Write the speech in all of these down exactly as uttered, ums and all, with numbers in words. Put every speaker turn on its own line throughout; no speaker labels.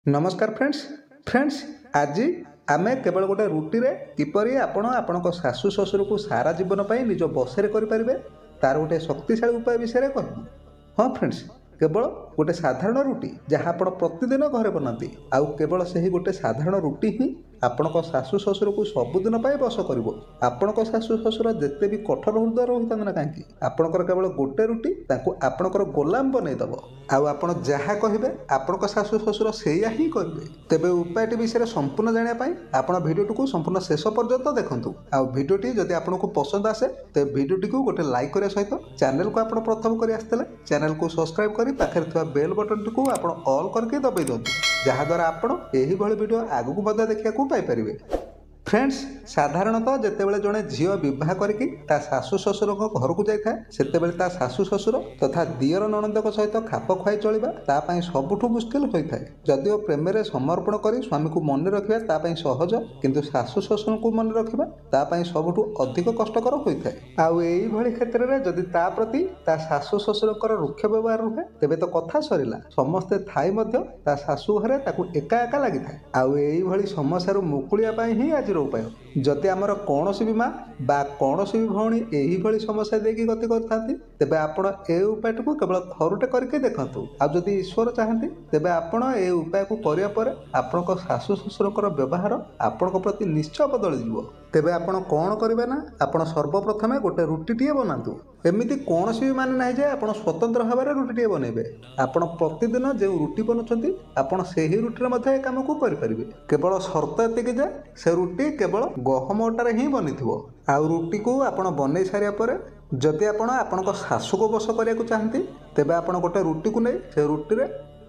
ନମସ୍କାର friends friends ଆଜି ଆମେ କେବଳ ଗୋଟେ ରୁଟିରେ କିପରି ଆପଣ ଆପଣଙ୍କ ଶାଶୁ ଶ୍ୱଶୁରକୁ ସାରା ଜୀବନ ପାଇଁ ନିଜ ବଶରେ କରିପାରିବେ ତାର ଗୋଟେ ଶକ୍ତିଶାଳୀ ଉପାୟ ବିଷୟରେ କହିବୁ ହଁ ଫ୍ରେଣ୍ଡସ୍ କେବଳ ଗୋଟେ ସାଧାରଣ ରୁଟି ଯାହା ଆପଣ ପ୍ରତିଦିନ ଘରେ ବନାନ୍ତି ଆଉ କେବଳ ସେହି ଗୋଟେ ସାଧାରଣ ରୁଟି ହିଁ ଆପଣଙ୍କ ଶାଶୁ ଶ୍ୱଶୁରକୁ ସବୁଦିନ ପାଇଁ ବଶ କରିବ ଆପଣଙ୍କ ଶାଶୁ ଶ୍ୱଶୁର ଯେତେ ବି କଠୋର ହୃଦୟର ହୋଇଥାନ୍ତୁ ନା କାହିଁକି ଆପଣଙ୍କର କେବଳ ଗୋଟେ ରୁଟି ତାଙ୍କୁ ଆପଣଙ୍କର ଗୋଲାମ ବନେଇଦେବ ଆଉ ଆପଣ ଯାହା କହିବେ ଆପଣଙ୍କ ଶାଶୁ ଶ୍ୱଶୁର ସେଇଆ ହିଁ କରିବେ ତେବେ ଉପାୟଟି ବିଷୟରେ ସମ୍ପୂର୍ଣ୍ଣ ଜାଣିବା ପାଇଁ ଆପଣ ଭିଡ଼ିଓଟିକୁ ସମ୍ପୂର୍ଣ୍ଣ ଶେଷ ପର୍ଯ୍ୟନ୍ତ ଦେଖନ୍ତୁ ଆଉ ଭିଡ଼ିଓଟି ଯଦି ଆପଣଙ୍କୁ ପସନ୍ଦ ଆସେ ତେବେ ଭିଡ଼ିଓଟିକୁ ଗୋଟେ ଲାଇକ୍ କରିବା ସହିତ ଚ୍ୟାନେଲକୁ ଆପଣ ପ୍ରଥମ କରି ଆସିଥିଲେ ଚ୍ୟାନେଲକୁ ସବସ୍କ୍ରାଇବ୍ କରି ପାଖରେ ଥିବା ବେଲ୍ ବଟନଟିକୁ ଆପଣ ଅଲ୍ କରିକି ଦବାଇ ଦିଅନ୍ତୁ ଯାହାଦ୍ୱାରା ଆପଣ ଏହିଭଳି ଭିଡ଼ିଓ ଆଗକୁ ମଧ୍ୟ ଦେଖିବାକୁ ପାଇପାରିବେ ଫ୍ରେଣ୍ଡସ୍ ସାଧାରଣତଃ ଯେତେବେଳେ ଜଣେ ଝିଅ ବିବାହ କରିକି ତା ଶାଶୁ ଶ୍ୱଶୁରଙ୍କ ଘରକୁ ଯାଇଥାଏ ସେତେବେଳେ ତା ଶାଶୁ ଶ୍ୱଶୁର ତଥା ଦିଅର ନଣନ୍ଦଙ୍କ ସହିତ ଖାପ ଖୁଆଇ ଚଳିବା ତା ପାଇଁ ସବୁଠୁ ମୁସ୍କିଲ ହୋଇଥାଏ ଯଦିଓ ପ୍ରେମରେ ସମର୍ପଣ କରି ସ୍ୱାମୀକୁ ମନେ ରଖିବା ତା ପାଇଁ ସହଜ କିନ୍ତୁ ଶାଶୁ ଶ୍ୱଶୁରଙ୍କୁ ମନେ ରଖିବା ତା ପାଇଁ ସବୁଠୁ ଅଧିକ କଷ୍ଟକର ହୋଇଥାଏ ଆଉ ଏଇଭଳି କ୍ଷେତ୍ରରେ ଯଦି ତା ପ୍ରତି ତା ଶାଶୁ ଶ୍ୱଶୁରଙ୍କର ରୁକ୍ଷ ବ୍ୟବହାର ରୁହେ ତେବେ ତ କଥା ସରିଲା ସମସ୍ତେ ଥାଇ ମଧ୍ୟ ତା ଶାଶୁ ଘରେ ତାକୁ ଏକା ଏକା ଲାଗିଥାଏ ଆଉ ଏଇଭଳି ସମସ୍ୟାରୁ ମୁକୁଳିବା ପାଇଁ ହିଁ ଆଜିର ଉପାୟ ଯଦି ଆମର କୌଣସି ବି ମା ବା କୌଣସି ବି ଭଉଣୀ ଏହିଭଳି ସମସ୍ୟା ଦେଇକି ଗତି କରିଥାନ୍ତି ତେବେ ଆପଣ ଏ ଉପାୟଟିକୁ କେବଳ ଥରୁଟେ କରିକି ଦେଖନ୍ତୁ ଆଉ ଯଦି ଈଶ୍ୱର ଚାହାନ୍ତି ତେବେ ଆପଣ ଏ ଉପାୟକୁ କରିବା ପରେ ଆପଣଙ୍କ ଶାଶୁ ଶ୍ୱଶୁରଙ୍କର ବ୍ୟବହାର ଆପଣଙ୍କ ପ୍ରତି ନିଶ୍ଚୟ ବଦଳିଯିବ ତେବେ ଆପଣ କ'ଣ କରିବେ ନା ଆପଣ ସର୍ବପ୍ରଥମେ ଗୋଟେ ରୁଟିଟିଏ ବନାନ୍ତୁ ଏମିତି କୌଣସି ବି ମାନେ ନାହିଁ ଯେ ଆପଣ ସ୍ୱତନ୍ତ୍ର ଭାବରେ ରୁଟିଟିଏ ବନେଇବେ ଆପଣ ପ୍ରତିଦିନ ଯେଉଁ ରୁଟି ବନଉଛନ୍ତି ଆପଣ ସେହି ରୁଟିରେ ମଧ୍ୟ ଏ କାମକୁ କରିପାରିବେ କେବଳ ସର୍ତ୍ତ ଏତିକି ଯେ ସେ ରୁଟି କେବଳ ଗହମ ଅଟାରେ ହିଁ ବନିଥିବ ଆଉ ରୁଟିକୁ ଆପଣ ବନେଇ ସାରିବା ପରେ ଯଦି ଆପଣ ଆପଣଙ୍କ ଶାଶୁକୁ ବଶ କରିବାକୁ ଚାହାନ୍ତି ତେବେ ଆପଣ ଗୋଟେ ରୁଟିକୁ ନେଇ ସେ ରୁଟିରେ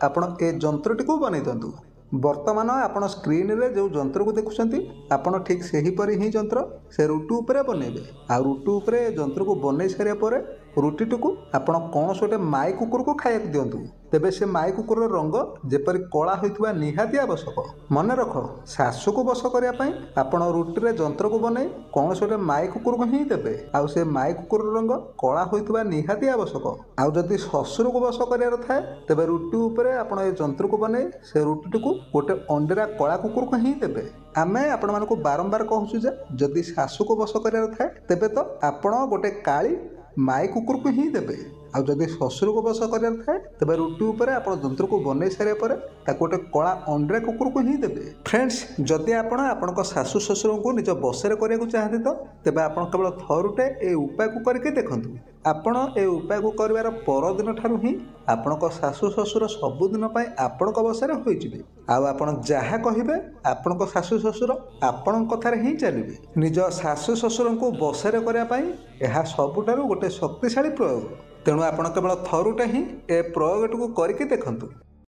ଆପଣ ଏ ଯନ୍ତ୍ରଟିକୁ ବନେଇ ଦିଅନ୍ତୁ ବର୍ତ୍ତମାନ ଆପଣ ସ୍କ୍ରିନରେ ଯେଉଁ ଯନ୍ତ୍ରକୁ ଦେଖୁଛନ୍ତି ଆପଣ ଠିକ୍ ସେହିପରି ହିଁ ଯନ୍ତ୍ର ସେ ରୁଟି ଉପରେ ବନେଇବେ ଆଉ ରୁଟି ଉପରେ ଏ ଯନ୍ତ୍ରକୁ ବନେଇ ସାରିବା ପରେ ରୁଟିଟିକୁ ଆପଣ କୌଣସି ଗୋଟେ ମାଇ କୁକୁରକୁ ଖାଇବାକୁ ଦିଅନ୍ତୁ ତେବେ ସେ ମାଇ କୁକୁରର ରଙ୍ଗ ଯେପରି କଳା ହୋଇଥିବା ନିହାତି ଆବଶ୍ୟକ ମନେ ରଖ ଶାଶୁକୁ ବଶ କରିବା ପାଇଁ ଆପଣ ରୁଟିରେ ଯନ୍ତ୍ରକୁ ବନେଇ କୌଣସି ଗୋଟେ ମାଇ କୁକୁରକୁ ହିଁ ଦେବେ ଆଉ ସେ ମାଇ କୁକୁରର ରଙ୍ଗ କଳା ହୋଇଥିବା ନିହାତି ଆବଶ୍ୟକ ଆଉ ଯଦି ଶ୍ୱଶୁରକୁ ବଶ କରିବାର ଥାଏ ତେବେ ରୁଟି ଉପରେ ଆପଣ ଏ ଯନ୍ତ୍ରକୁ ବନେଇ ସେ ରୁଟିଟିକୁ ଗୋଟେ ଅଣ୍ଡିରା କଳା କୁକୁରକୁ ହିଁ ଦେବେ ଆମେ ଆପଣମାନଙ୍କୁ ବାରମ୍ବାର କହୁଛୁ ଯେ ଯଦି ଶାଶୁକୁ ବଶ କରିବାର ଥାଏ ତେବେ ତ ଆପଣ ଗୋଟେ କାଳି ମାଇ କୁକୁରକୁ ହିଁ ଦେବେ ଆଉ ଯଦି ଶ୍ୱଶୁରକୁ ବଶ କରିବାର ଥାଏ ତେବେ ରୁଟି ଉପରେ ଆପଣ ଯନ୍ତ୍ରକୁ ବନେଇ ସାରିବା ପରେ ତାକୁ ଗୋଟେ କଳା ଅଣ୍ଡିରା କୁକୁରକୁ ହିଁ ଦେବେ ଫ୍ରେଣ୍ଡସ୍ ଯଦି ଆପଣ ଆପଣଙ୍କ ଶାଶୁ ଶ୍ୱଶୁରଙ୍କୁ ନିଜ ବଶରେ କରିବାକୁ ଚାହାନ୍ତି ତ ତେବେ ଆପଣ କେବଳ ଥରୁଟେ ଏ ଉପାୟକୁ କରିକି ଦେଖନ୍ତୁ ଆପଣ ଏ ଉପାୟକୁ କରିବାର ପରଦିନ ଠାରୁ ହିଁ ଆପଣଙ୍କ ଶାଶୁ ଶ୍ୱଶୁର ସବୁଦିନ ପାଇଁ ଆପଣଙ୍କ ବଶରେ ହୋଇଯିବେ ଆଉ ଆପଣ ଯାହା କହିବେ ଆପଣଙ୍କ ଶାଶୁ ଶ୍ୱଶୁର ଆପଣଙ୍କ କଥାରେ ହିଁ ଚାଲିବେ ନିଜ ଶାଶୁ ଶ୍ୱଶୁରଙ୍କୁ ବଶରେ କରିବା ପାଇଁ ଏହା ସବୁଠାରୁ ଗୋଟେ ଶକ୍ତିଶାଳୀ ପ୍ରୟୋଗ ତେଣୁ ଆପଣ କେବଳ ଥରୁଟେ ହିଁ ଏ ପ୍ରୟୋଗଟିକୁ କରିକି ଦେଖନ୍ତୁ